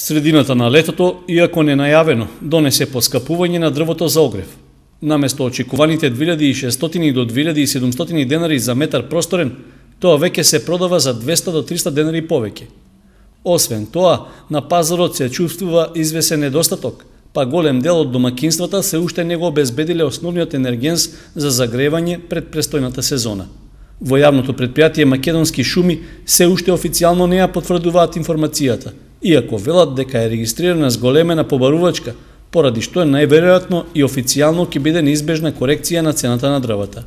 Средината на летото, иако не најавено, донесе поскапување на дрвото за огрев. Наместо очекуваните 2600 до 2700 денари за метар просторен, тоа веќе се продава за 200 до 300 денари повеќе. Освен тоа, на пазарот се чувствува извесен недостаток, па голем дел од домакинствата се уште не го обезбедиле основниот енергенс за загревање пред престојната сезона. Во јавното претпријатие Македонски шуми се уште официјално не ја потврдуваат информацијата, иако велат дека е регистрирана зголемена побарувачка, поради што најверојатно и официјално ќе биде неизбежна корекција на цената на дрвата.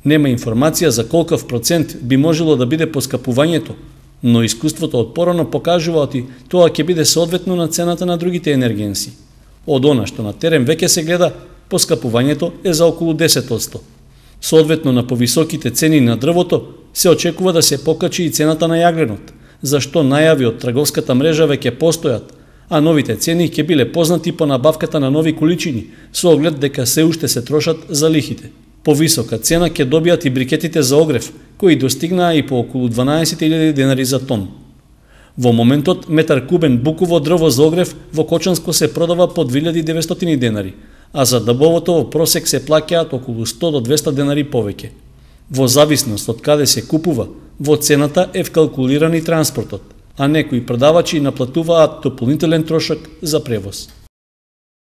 Нема информација за колков процент би можело да биде поскапувањето, но искуството од порано покажува оти тоа ќе биде соодветно на цената на другите енергенси. Од она што на терен веќе се гледа, поскапувањето е за околу 10%. Соодветно на повисоките цени на дрвото, се очекува да се покачи и цената на јагленот, зашто најави од трговската мрежа веќе постојат, а новите цени ќе биле познати по набавката на нови количини, со оглед дека се уште се трошат за лихите. Повисока цена ќе добијат и брикетите за огрев, кои достигнаа и по околу 12.000 денари за тон. Во моментот, метар кубен буково дрво за огрев во Кочанско се продава по 2900 денари, а за дъбовото во просек се плаќаат околу 100 до 200 денари повеќе. Во зависност од каде се купува, во цената е вкалкулиран и транспортот, а некои продавачи наплатуваат дополнителен трошок за превоз.